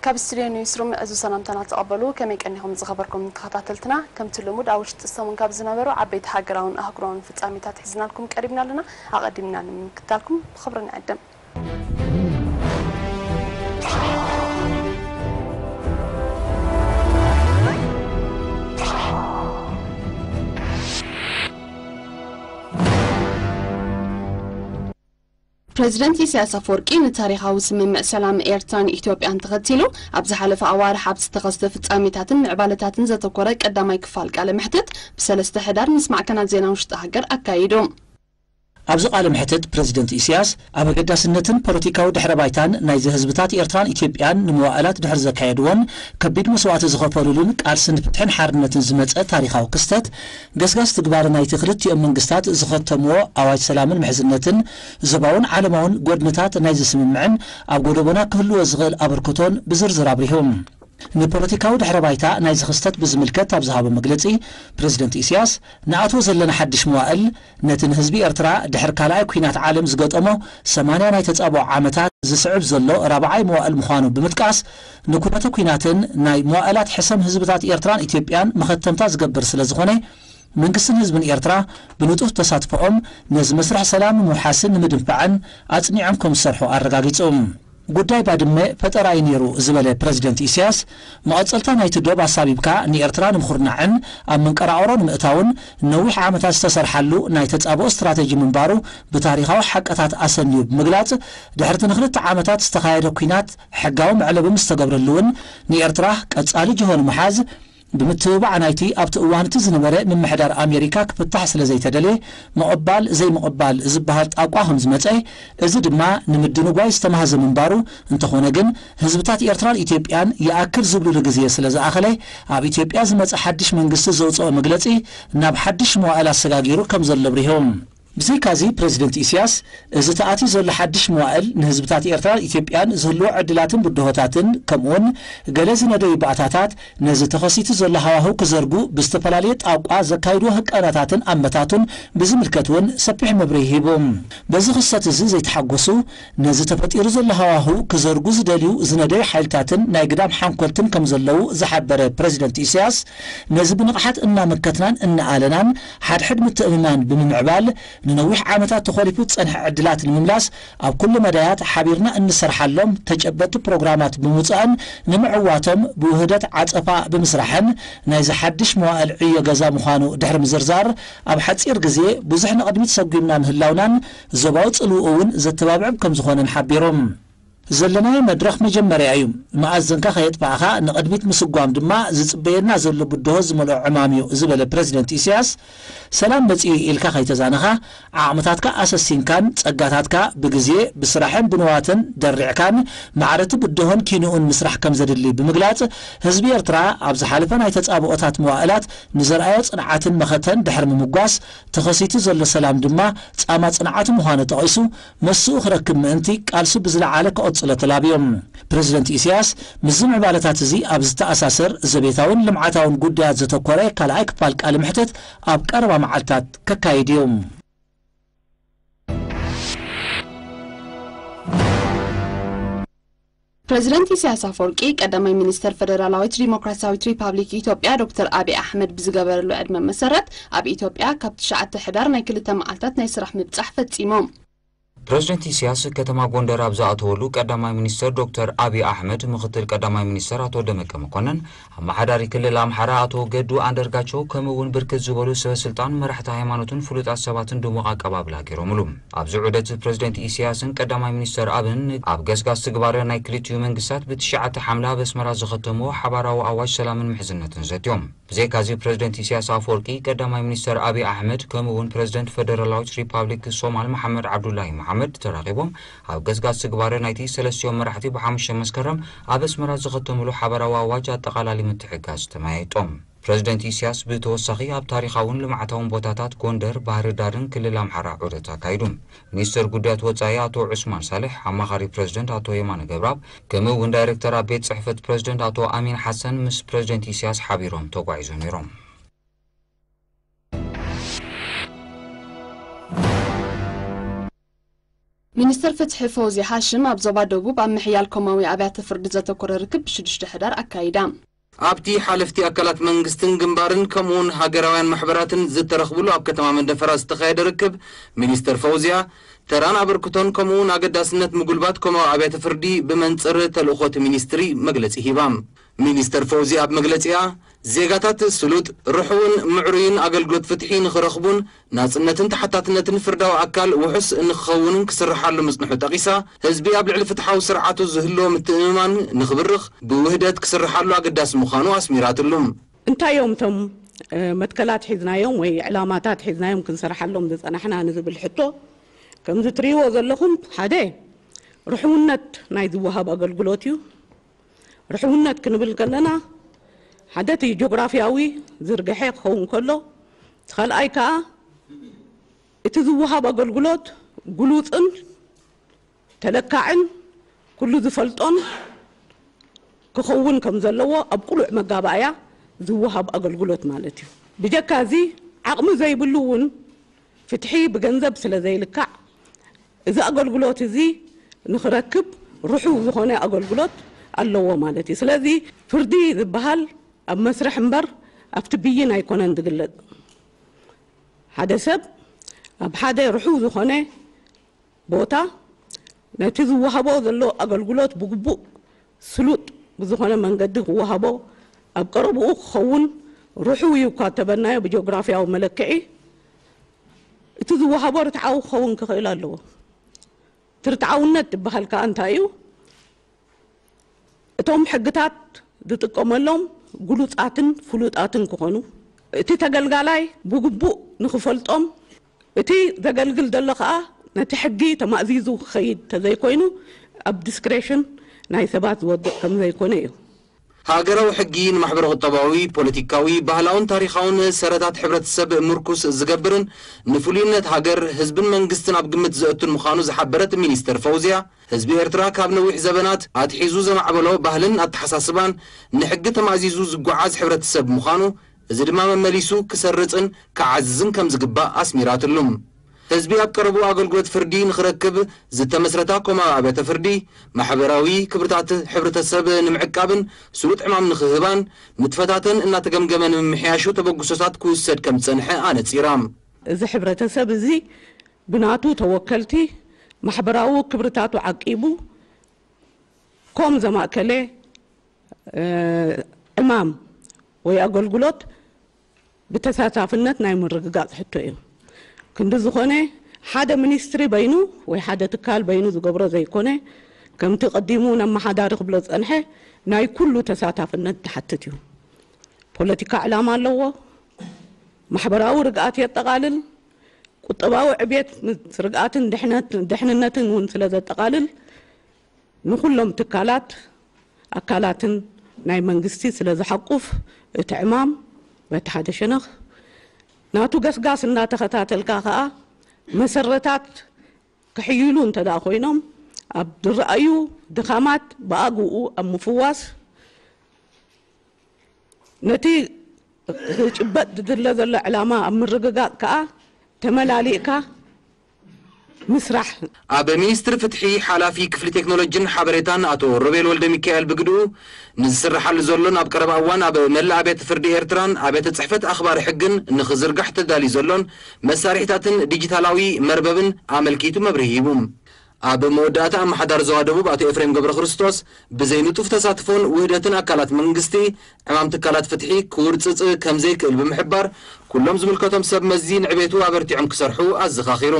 ካብ ስቱድዮ ኒውስሩም እዚ ሰላምታና ተቐበሉ። ከመይ ቀኒኹም ዝኸበርኩም ተኸታተልትና? ከምቲ ልሙድ ኣብ ውሽጢ ሰሙን ካብ ዝነበሩ ዓበይቲ ሃገራውን ኣህጉራውን ፍጻሜታት ሒዝናልኩም ቀሪብና ኣለና። ኣቐዲምና ንምክታልኩም ብኽብሪ ንዕድም። ፕሬዚደንት ኢሳያስ ኣፈወርቂ ንታሪኻዊ ስምምዕ ሰላም ኤርትራን ኢትዮጵያን ተኸቲሉ ኣብ ዝሓለፈ ኣዋርሕ ኣብ ዝተኸስተ ፍጻሜታትን ምዕባለታትን ዘተኮረ ቀዳማይ ክፋል ቃለ መሕትት ብሰለስተ ሕዳር ምስ ማዕከናት ዜና ውሽጢ ሃገር ኣካይዱ። ኣብዚ ቃለ መሕትት ፕሬዚደንት ኢሳያስ ኣብ ኣገዳስነትን ፖለቲካዊ ድሕረ ባይታን ናይዚ ህዝብታት ኤርትራን ኢትዮጵያን ንመዋእላት ድሕሪ ዘካየድዎን ከቢድ መስዋእቲ ዝኸፈሉሉን ቃልሲ ንፍትሕን ሓርነትን ዝመጸ ታሪኻዊ ክስተት፣ ገስጋስ ትግባረ ናይቲ ክልቲኦም መንግስታት ዝኸተምዎ ኣዋጅ ሰላምን ምሕዝነትን፣ ዞባውን ዓለማውን ጎድንታት ናይዚ ስምምዕን ኣብ ጎደቦና ክህልዎ ዝኽእል ኣበርክቶን ብዝርዝር ኣብሪሁ። ንፖለቲካዊ ድሕረ ባይታ ናይዚ ክስተት ብዝምልከት ኣብ ዝሃቦ መግለጺ፣ ፕሬዚደንት ኢሳያስ፣ ንኣትዎ ዘለና ሓድሽ መዋእል፣ ነቲ ንህዝቢ ኤርትራ ድሕሪ ካልኣይ ኲናት ዓለም ዝገጠሞ ሰማንያ ናይ ተጻብኦ ዓመታት ዝስዕብ ዘሎ ራብዓይ መዋእል ምዃኑ ብምጥቃስ፣ ንኩነተ ኲናትን ናይ መዋእላት ሕሰም ህዝብታት ኤርትራን ኢትዮጵያን መኸተምታ ዝገብር ስለ ዝኾነ፣ መንግስትን ህዝብን ኤርትራ ብንጡፍ ተሳትፎኦም ነዚ መስርሕ ሰላም ንምውሓስን ንምድንፋዕን ኣጽኒዖም ከም ዝሰርሑ ኣረጋጊጹ። ጉዳይ ባድመ ፈጠራ እዩ ነይሩ ዝበለ ፕረዚደንት ኢሳያስ፣ መቐጸልታ ናይቲ ዶብ ኣሳቢብካ ንኤርትራ ንምኹርናዕን ኣብ መንቀራቕሮ ንምእታውን ነዊሕ ዓመታት ዝተሰርሓሉ ናይ ተጻብኦ ስትራተጂ ምንባሩ ብታሪኻዊ ሓቅታት ኣሰንዩ ብምግላጽ፣ ድሕርቲ ንክልተ ዓመታት ዝተኻየደ ኲናት ሕጋዊ መዕለቢ ምስ ተገብረሉ እውን ንኤርትራ ቀጻሊ ጅሆ ንምሓዝ ብምትብባዕ ናይቲ ኣብቲ እዋን እቲ ዝነበረ ምምሕዳር ኣሜሪካ ክፍታሕ ስለ ዘይተደልየ፣ ምቕባል ዘይምቕባል ዝበሃል ጣቋ ከም ዝመጸ፣ እዚ ድማ ንምድንጓይ ዝተማህዘ ምንባሩ፣ እንተኾነ ግን፣ ህዝብታት ኤርትራን ኢትዮጵያን ይኣክል ዝብሉሉ ግዜ ስለ ዝኣኸለ፣ ኣብ ኢትዮጵያ ዝመጸ ሓድሽ መንግስቲ ዘውጽኦ መግለጺ ናብ ሓድሽ መዋእል ኣሰጋጊሩ ከም ዘሎ ኣብሪሁ። ብዘይካዚ፣ ፕረዚደንት ኢሳያስ፣ እዚ ተኣትዩ ዘሎ ሓድሽ መዋእል ንህዝብታት ኤርትራን ኢትዮጵያን ዝህልዎ ዕድላትን ብድሆታትን፣ ከምኡውን ገለ ዝነደዩ ባእታታት፣ ነዚ ተኸሲቱ ዘሎ ሃዋህው ክዘርጉ ብዝተፈላለየ ጣቋ ዘካይድዎ ህቀናታትን ኣመታቱን ብዝምልከት እውን ሰፊሕ መብርሂ ሂቡ። በዚ ክስተት እዚ ዘይተሓጎሱ፣ ነዚ ተፈጢሩ ዘሎ ሃዋህው ክዘርጉ ዝደልዩ ዝነደዩ ሓይልታትን ናይ ግዳም ሓንኮልትን ከም ዘለዉ ዝሓበረ ፕረዚደንት ኢሳያስ፣ ነዚ ብንቕሓት እናመከትናን እናኣለናን ሓድሕድ ምትእምማን ብምምዕባል፣ ንነዊሕ ዓመታት ተኾሊፉ ዝጸንሐ ዕድላት ንምምላስ ኣብ ኩሉ መዳያት ሓቢርና እንሰርሓሎም ተጨበጥቲ ፕሮግራማት ብምውጻእን ንምዕዋቶም ብውህደት ዓጸፋ ብምስራሕን ናይዚ ሓድሽ መዋእል ዕዮ ገዛ ምዃኑ ድሕሪ ምዝርዛር፣ ኣብ ሓጺር ግዜ ብዙሕ ንቕድሚት ሰጒምና ምህላውናን ዞባዊ ጽልውኡ እውን ዘተባብዕም ከም ዝኾነን ሓቢሩ። ዘለናዮ መድረኽ መጀመርያ እዩ። መኣዘንካ ከየጥፋእኻ ንቕድሚት ምስጓም ድማ ዝጽበየና ዘሎ ብድሆ ዝመልኦ ዕማም እዩ ዝበለ ፕረዚደንት ኢሳያስ፣ ሰላም መጺኡ ኢልካ ከይተዛነኻ፣ ዓቕምታትካ ኣሰሲንካን ጸጋታትካ ብግዜ፣ ብስራሕን ብንዋትን ደሪዕካን ማዕረቲ ብድሆን ኪንኡን ምስራሕ ከም ዘድሊ ብምግላጽ፣ ህዝቢ ኤርትራ ኣብ ዝሓለፈ ናይ ተጻብኦታት መዋእላት ንዘርኣዮ ጽንዓትን መኸተን ድሕሪ ምምጓስ፣ ተኸሲቱ ዘሎ ሰላም ድማ ጻማ ጽንዓቱ ምዃኑ ጠቒሱ፣ መስኡ ክረክብ ምእንቲ ቃልሱ ብዝለዓለ ክቕጽሎ ተላብዮም። ፕረዚደንት ኢሳያስ ምስዚ ምዕባለታት እዚ ኣብ ዝተኣሳሰር ዘቤታውን ልምዓታውን ጉዳያት ዘተኮረ ካልኣይ ክፋል ቃለ መሕትት ኣብ ቀረባ መዓልታት ከካይድ እዩ። ፕረዚደንት ኢሳያስ ኣፈወርቂ ቀዳማይ ሚኒስተር ፈደራላዊት ዲሞክራሲያዊት ሪፓብሊክ ኢትዮጵያ ዶክተር ኣብይ ኣሕመድ ብዝገበረሉ ዕድመ መሰረት ኣብ ኢትዮጵያ ካብ ትሽዓተ ሕዳር ናይ ክልተ መዓልታት ናይ ስራሕ ምብጻሕ ፈጺሞም። ፕረዚደንት ኢሳያስ ከተማ ጎንደር ኣብ ዝኣተወሉ ቀዳማይ ሚኒስተር ዶክተር ኣብይ ኣሕመድ፣ ምኽትል ቀዳማይ ሚኒስተር ኣቶ ደመቀ መኮነን፣ ኣመሓዳሪ ክልል ኣምሓራ ኣቶ ገዱ ኣንደርጋቸው፣ ከምኡ እውን ብርክት ዝበሉ ሰበ ስልጣን፣ መራሕቲ ሃይማኖትን ፍሉጣት ሰባትን ድሙቕ ኣቀባብላ ገይሮምሉ። ኣብዚ ዑደት ፕረዚደንት ኢሳያስን ቀዳማይ ሚኒስተር ኣብን ኣብ ገስጋስ ትግባረ ናይ ክልቲኡ መንግስታት ብትሽዓተ ሓምለ ኣብ ኣስመራ ዝኸተምዎ ሓባራዊ ኣዋጅ ሰላምን ምሕዝነትን ዘትዮም። ብዘይካዚ ፕረዚደንት ኢሳያስ ኣፈወርቂ፣ ቀዳማይ ሚኒስተር ኣብይ ኣሕመድ፣ ከምኡ እውን ፕረዚደንት ፈደራላዊት ሪፓብሊክ ሶማል መሓመድ ዓብዱላሂ መሓመድ ተራኺቦም ኣብ ገስጋስ ትግባረ ናይቲ ሰለስቲኦም መራሕቲ ብሓሙሽተ መስከረም ኣብ ኣስመራ ዝኸተምሉ ሓባራዊ ኣዋጅ ኣጠቓላሊ ምትሕግጋዝ ተመያይጦም። ፕረዚደንት ኢሳያስ ብተወሳኺ ኣብ ታሪኻውን ልምዓታውን ቦታታት ጎንደር፣ ባህሪ ዳርን ክልል ኣምሓራ ዑደት ኣካይዱ። ሚኒስተር ጉዳያት ወጻኢ ኣቶ ዑስማን ሳልሕ፣ ኣማኻሪ ፕረዚደንት ኣቶ የማነ ገብረኣብ፣ ከምኡ እውን ዳይሬክተር ኣብ ቤት ጽሕፈት ፕረዚደንት ኣቶ ኣሚን ሓሰን ምስ ፕረዚደንት ኢሳያስ ሓቢሮም ተጓዒዞም ነይሮም። ሚኒስትር ፍትሒ ፈውዝያ ሃሽም ኣብ ዞባ ደቡብ ኣብ ምሕያል ኮማዊ ኣብያተ ፍርዲ ዘተኮረ ርክብ ብሽዱሽተ ሕዳር ኣካይዳ። ኣብቲ ሓለፍቲ ኣካላት መንግስትን ግንባርን ከምኡውን ሃገራውያን ማሕበራትን ዝተረኽብሉ ኣብ ከተማ መንደፈራ ዝተኻየደ ርክብ፣ ሚኒስተር ፈውዝያ ተራን ኣበርክቶን ከምኡውን ኣገዳስነት ምጉልባት ኮማዊ ኣብያተ ፍርዲ ብመንጽር ተልእኾ እቲ ሚኒስትሪ መግለጺ ሂባ። ሚኒስተር ፈውዝያ ኣብ መግለጺኣ፣ ዜጋታት ስሉጥ፣ ርሑውን ምዕሩይን ኣገልግሎት ፍትሒ ንኽረኽቡን ናጽነትን ተሓታትነትን ፍርዳዊ ኣካል ውሑስ ንክኸውንን ክስርሓሉ ምጽንሑ ጠቒሳ፣ ህዝቢ ኣብ ልዕሊ ፍትሓዊ ስርዓቱ ዝህልዎ ምትእምማን ንኽብርኽ ብውህደት ክስርሓሉ ኣገዳሲ ምዃኑ ኣስሚራትሉ። እንታይ እዮም እቶም፣ እ፣ መትከላት ሒዝናዮም ወይ ዕላማታት ሒዝናዮም ክንሰርሓሎም ዝጸናሕና ንዝብል ሕቶ፣ ከምዚ ትርእይዎ ዘለኹም፣ ሓደ ርሑውነት ናይ ዝወሃብ ኣገልግሎት እዩ። ርሑውነት ክንብል ከለና፣ ሓደ እቲ ጂኦግራፊያዊ ዝርግሐ ክኸውን ከሎ፣ እቲ ካልኣይ ከኣ እቲ ዝወሃብ ኣገልግሎት ግሉጽን ተለካዕን ኩሉ ዝፈልጦን ክኸውን ከም ዘለዎ ኣብ ቅሉዕ መጋባእያ ዝወሃብ ኣገልግሎት ማለት እዩ። ብጀካ እዚ ዓቕሚ ዘይብሉ እውን ፍትሒ ብገንዘብ ስለ ዘይልካዕ፣ እዚ ኣገልግሎት እዚ ንኽረክብ ርሑው ዝኾነ ኣገልግሎት ኣለዎ ማለት እዩ። ስለዚ ፍርዲ ዝበሃል ኣብ መስርሕ እምበር ኣብቲ ብይን ኣይኮነን ዝግለጽ። ሓደ ሰብ ኣብ ሓደ ርሑው ዝኾነ ቦታ ነቲ ዝወሃቦ ዘሎ ኣገልግሎት ብግቡእ ስሉጥ ብዝኾነ መንገዲ ክወሃቦ ኣብ ቀረብኡ ክኸውን ርሑው እዩ እኳ እተበልናዮ ብጂኦግራፊያዊ መለክዒ፣ እቲ ዝወሃቦ ርትዓዊ ክኸውን ክኽእል ኣለዎ። እቲ ርትዓውነት ዝበሃል ከኣ እንታይ እዩ? እቶም ሕግታት ዝጥቀመሎም ግሉጻትን ፍሉጣትን ክኾኑ፣ እቲ ተገልጋላይ ብግቡእ ንኽፈልጦም፣ እቲ ዘገልግል ዘሎ ከኣ ነቲ ሕጊ ተማእዚዙ ክኸይድ ተዘይኮይኑ፣ ኣብ ዲስክሬሽን ናይ ሰባት ዝወድቕ ከም ዘይኮነ እዩ። ሃገራዊ ሕጊ ንማሕበረ-ቁጠባዊ፣ ፖለቲካዊ፣ ባህላውን ታሪኻውን ሰረታት ሕብረተሰብ ምርኩስ ዝገብርን ንፍሉይነት ሃገር፣ ህዝብን መንግስትን ኣብ ግምት ዘእቱን ምዃኑ ዝሓበረት ሚኒስተር ፈውዝያ፣ ህዝቢ ኤርትራ ካብ ነዊሕ ዘበናት ኣትሒዙ ዘማዕበሎ ባህልን ኣተሓሳስባን ንሕጊ ተማእዚዙ ዝጓዓዝ ሕብረተሰብ ምዃኑ፣ እዚ ድማ መመሊሱ ክሰርጽን ክዓዝዝን ከም ዝግባእ ኣስሚራትሉ። ህዝቢ ኣብ ቀረብኡ ኣገልግሎት ፍርዲ ንኽረክብ ዝተመስረታ ኮማዊ ኣብያተ ፍርዲ፣ ማሕበራዊ ክብርታት ሕብረተሰብ ንምዕቃብን ስሉጥ ዕማም ንኽህባን፣ ንጥፈታተን እናተገምገመ ንምምሕያሹ ተበግሶታት ክውሰድ ከም ዝጸንሐ ኣነጺራ። እዚ ሕብረተሰብ እዚ ብናቱ ተወከልቲ ማሕበራዊ ክብርታቱ ዓቂቡ፣ ኮም ዘማእከለ፣ እ፣ ዕማም ወይ ኣገልግሎት ብተሳታፍነት ናይ ምርግጋጽ ሕቶ እዩ። ክንዲ ዝኾነ፣ ሓደ ሚኒስትሪ በይኑ ወይ ሓደ ትካል በይኑ ዝገብሮ ዘይኮነ፣ ከምቲ ቀዲሙ ነመሓዳሪ ክብሎ ዝጸንሐ፣ ናይ ኩሉ ተሳታፍነት ዝሓትት እዩ። ፖለቲካ ዕላማ ኣለዎ፣ ማሕበራዊ ርግኣት የጠቓልል፣ ቁጠባዊ ዕብየት ምስ ርግኣትን ድሕነት-፣ ድሕንነትን እውን ስለ ዘጠቓልል፣ ንኹሎም ትካላት፣ ኣካላትን ናይ መንግስቲ ስለ ዝሓቁፍ፣ እቲ ዕማም በቲ ሓደ ሸነኽ፣ ናቱ ገስጋስ እናተኸታተልካ ከኣ፣ መሰረታት ክሕይሉ እንተ ደኣ ኮይኖም፣ ኣብ ዝረኣዩ ድኻማት ብኣግኡ ኣብ ምፍዋስ፣ ነቲ ክጭበጥ ዝድለ ዘሎ ዕላማ ኣብ ምርግጋጽ ከኣ ተመላሊእካ ምስራሕ። ኣብ ሚኒስትሪ ፍትሒ ሓላፊ ክፍሊ ቴክኖሎጂን ሓበሬታን ኣቶ ሮቤል ወልደ ሚካኤል ብግድኡ፣ ንዝስርሓሉ ዘሎን ኣብ ቀረባ እዋን ኣብ መላእ ኣብያተ ፍርዲ ኤርትራን ኣብያተ ጽሕፈት ኣኽባሪ ሕግን ንኽዝርጋሕ ተዳልዩ ዘሎን መሳርሒታትን ዲጂታላዊ መርበብን ኣመልኪቱ መብርሂ ሂቡ። ኣብ መወዳእታ፣ ኣመሓዳሪ ዞባ ደቡብ ኣቶ ኤፍሬም ገብረ ክርስቶስ፣ ብዘይንጡፍ ተሳትፎን ውህደትን ኣካላት መንግስቲ፣ ዕማም ትካላት ፍትሒ ክውርጽጽ ከም ዘይክእል ብምሕባር፣ ኩሎም ዝምልከቶም ሰብ መዚ ንዕቤቱ ኣበርቲዖም ክሰርሑ ኣዘኻኺሩ።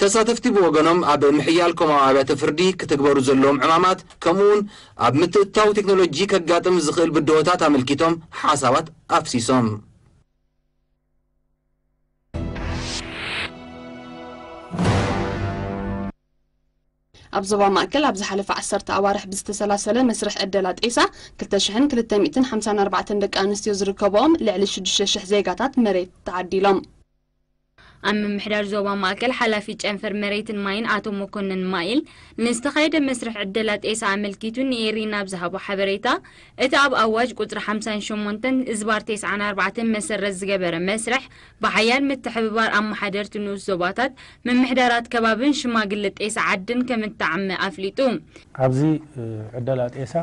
ተሳተፍቲ ብወገኖም፣ ኣብ ምሕያል ኮማዊ ኣብያተ ፍርዲ ክትግበሩ ዘለዎም ዕማማት፣ ከምኡውን ኣብ ምትእትታው ቴክኖሎጂ ከጋጥም ዝኽእል ብድሆታት ኣመልኪቶም ሓሳባት ኣፍሲሶም። ኣብ ዞባ ማእከል ኣብ ዝሓለፈ ዓሰርተ ኣዋርሕ ብዝተሰላሰለ መስርሕ ዕደላ ጤሳ፣ ክልተ ሽሕን ክልተ ሚእትን ሓምሳን ኣርባዕተን ደቂ ኣንስትዮ ዝርከብኦም ልዕሊ ሽዱሽተ ሽሕ ዜጋታት መሬት ተዓዲሎም። ኣብ ምምሕዳር ዞባ ማእከል ሓላፊ ጨንፈር መሬትን ማይን ኣቶ መኮንን ማይል ንዝተኻየደ መስርሕ ዕደላ ጤሳ ኣመልኪቱ ንኤሪና ኣብ ዝሃቦ ሓበሬታ፣ እቲ ኣብ ኣዋጅ ቁጽሪ ሓምሳን ሸሞንተን እዝባር ተስዓን ኣርባዕተን መሰረት ዝገበረ መስርሕ ብሓያል ምትሕብባር ኣመሓደርቲ ንኡስ ዞባታት፣ ምምሕዳራት ከባብን ሽማግለ ጤሳ ዓድን ከም እተዓመ ኣፍሊጡ። ኣብዚ ዕደላ ጤሳ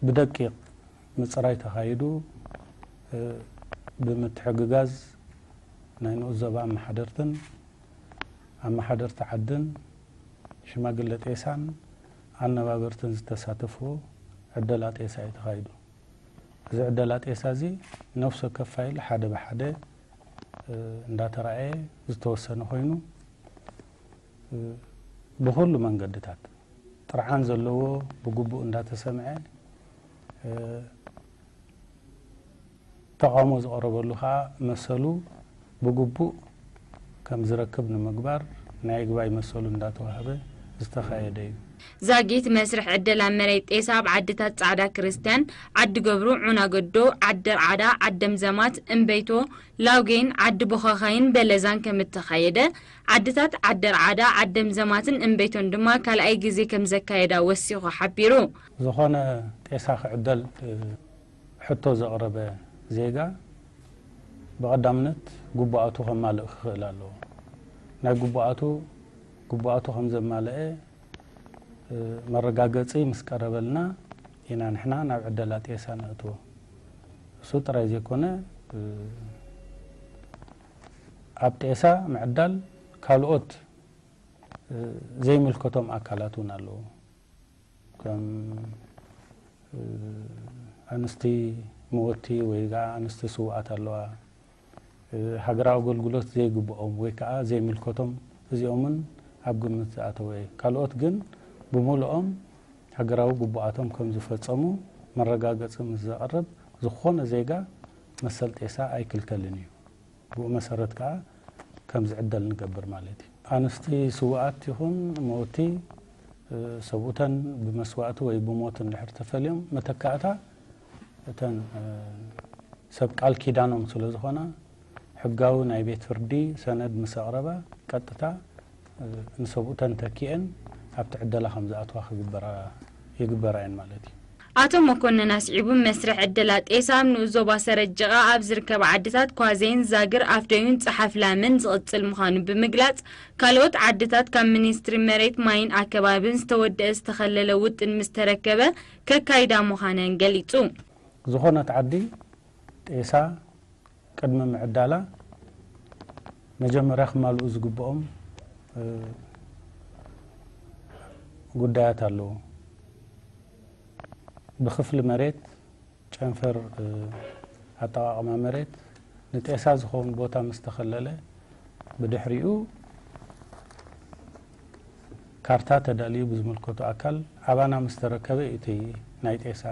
ብደቂቕ ምጽራይ ተኻይዱ፣ ብምትሕግጋዝ ናይ ንኡስ ዞባ ኣመሓደርትን ኣመሓደርቲ ዓድን ሽማግለ ጤሳን ኣነባበርትን ዝተሳተፍዎ ዕደላ ጤሳ እዩ ተኻይዱ። እዚ ዕደላ ጤሳ እዚ ነፍሲ ወከፍ ፋይል ሓደ ብሓደ እንዳተራእየ ዝተወሰነ ኮይኑ፣ ብኹሉ መንገድታት ጥርዓን ዘለዎ ብግቡእ እንዳተሰምዐ፣ ተቓውሞ ዝቐረበሉ ከኣ መሰሉ ብግቡእ ከም ዝረክብ ንምግባር ናይ ይግባይ መሰሉ እንዳተዋህበ ዝተኻየደ እዩ። ዛጊት መስርሕ ዕደላ መሬት ጤሳ ኣብ ዓድታት ጻዕዳ ክርስትያን፣ ዓዲ ገብሩ፣ ዑናገዶ፣ ዓዲ ርዓዳ፣ ዓደም ዘማት፣ እምበይቶ፣ ላውጌን፣ ዓዲ ቦኻኻይን በለዛን ከም እተኻየደ፣ ዓድታት ዓዲ ርዓዳ፣ ዓደም ዘማትን እምበይቶን ድማ ካልኣይ ግዜ ከም ዘካየዳ ወሲኹ ሓቢሩ። ዝኾነ ጤሳ ክዕደል ሕቶ ዘቕረበ ዜጋ ብቐዳምነት ግቡኣቱ ከማልእ ክኽእል ኣለዎ። ናይ ግቡኣቱ ግቡኣቱ ከም ዘማልአ መረጋገጺ ምስ ቀረበልና ኢና ንሕና ናብ ዕደላ ጤሳ ነእትዎ። እሱ ጥራይ ዘይኮነ፣ ኣብ ጤሳ ምዕዳል ካልኦት ዘይምልከቶም ኣካላት እውን ኣለዉ። ከም ኣንስቲ መወቲ ወይ ከዓ ኣንስቲ ስውኣት ኣለዋ። ሃገራዊ ኣገልግሎት ዘይግብኦም ወይ ከዓ ዘይምልከቶም፣ እዚኦምን ኣብ ግምት ዝኣተወ እዩ። ካልኦት ግን ብምሉኦም ሃገራዊ ግቡኣቶም ከም ዝፈጸሙ መረጋገጺ ምስ ዘቕርብ፣ ዝኾነ ዜጋ መሰል ጤሳ ኣይክልከልን እዩ። ብኡ መሰረት ከዓ ከም ዝዕደል ንገብር ማለት እዩ። ኣንስቲ ስውኣት ይኹን መወቲ፣ ሰብኡተን ብመስዋእቲ ወይ ብሞት እንድሕር ተፈልዮም፣ መተካእታ እተን ሰብ ቃል ኪዳኖም ስለ ዝኾና፣ ሕጋዊ ናይ ቤት ፍርዲ ሰነድ ምስ ኣቕረባ፣ ቀጥታ ንሰብኡተን ተኪኤን ኣብቲ ዕደላ ከም ዝኣትዋ ክግበራ ይግበራ እየን ማለት እዩ። ኣቶ መኮንን ኣስዒቡ፣ መስርሕ ዕደላ ጤሳ ኣብ ንኡስ ዞባ ሰረጀቓ ኣብ ዝርከባ ዓድታት ኳዜን፣ ዛግር፣ ኣፍደዩን ጸሓፍ ላምን ዝቕጽል ምዃኑ ብምግላጽ፣ ካልኦት ዓድታት ካብ ሚኒስትሪ መሬት ማይን ኣከባብን ዝተወደአ ዝተኸለለ ውጥን ምስ ተረከበ ከካይዳ ምዃነን ገሊጹ። ዝኾነት ዓዲ ጤሳ ቅድሚ ምዕዳላ መጀመርያ ክማልኡ ዝግብኦም ጉዳያት ኣለዉ። ብክፍሊ መሬት፣ ጨንፈር ኣጠቓቕማ መሬት፣ ንጤሳ ዝኸውን ቦታ ምስ ተኸለለ፣ ብድሕሪኡ ካርታ ተዳልዩ ብዝምልከቶ ኣካል ኣባና ምስ ተረከበ እዩ እቲ ናይ ጤሳ